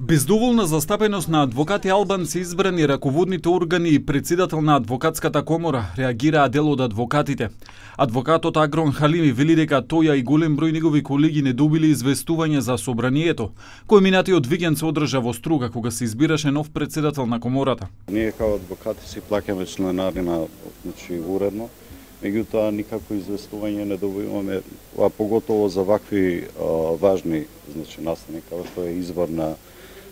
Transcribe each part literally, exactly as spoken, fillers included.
Бездоволна застапеност на адвокати албанци избрани раководните органи и председател на адвокатската комора реагираа дел од адвокатите. Адвокатот Агрон Халими вели дека тој и голем број негови колеги не добили известување за собранието, кој минатиот викенд се одржа во Струга кога се избираше нов председател на комората. Ние као адвокати си плаќаме членарина, значи уредно. Меѓутоа никако известување не добиваме, а поготово за вакви а, важни, значи настани, како што е избор на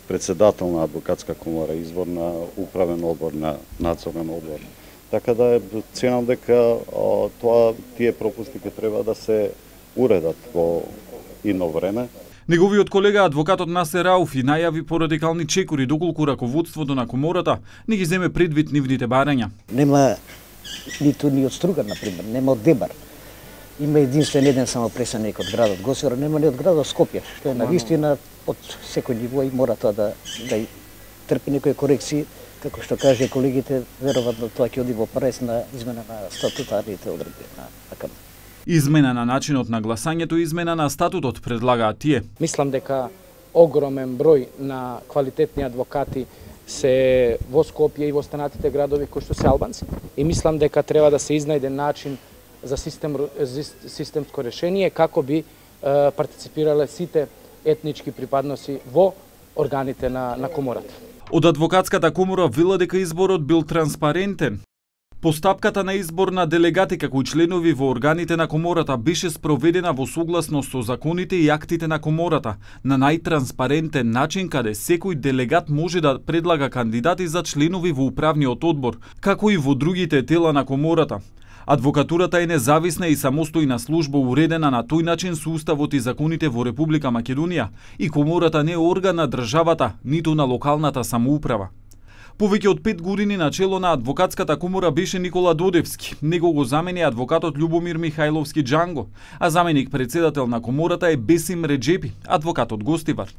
председател на адвокатска комора, избор на управен одбор, на надзорен одбор. Така да ценам дека а, тоа тие пропусти ќе треба да се уредат во идно време. Неговиот колега адвокатот Насер Рауфи најави порадикални чекори доколку раководството на комората не ги земе предвид нивните барања. Нема ниту ни од Струга, например, нема од Дебар. Има единствен еден само пресаник од градот Госивар, нема ни од градот Скопје, што е на вистина од секој ниво и мора тоа да, да трпи некои корекции, како што каже колегите, веројатно тоа ќе оди во прес на измена на статутарните одредби на АКМ. Измена на начинот на гласањето и измена на статутот предлагаат тие. Мислам дека огромен број на квалитетни адвокати се во Скопје и во останатите градови кои што се албанци и мислам дека треба да се изнајде начин за систем, системско решение како би е, партиципирале сите етнички припадноси во органите на, на комората. Од адвокатската комора вела дека изборот бил транспарентен. Постапката на избор на делегати како и членови во органите на комората беше спроведена во согласност со законите и актите на комората, на најтранспарентен начин каде секој делегат може да предлага кандидати за членови во управниот одбор, како и во другите тела на комората. Адвокатурата е независна и самостојна служба уредена на тој начин со уставот и законите во Република Македонија и комората не е орган на државата, ниту на локалната самоуправа. Повеќе од пет години на чело на адвокатската комора беше Никола Додевски. Него го замени адвокатот Љубомир Михајловски Џанго, а заменик председател на комората е Бесим Реџепи, адвокат од Гостивар.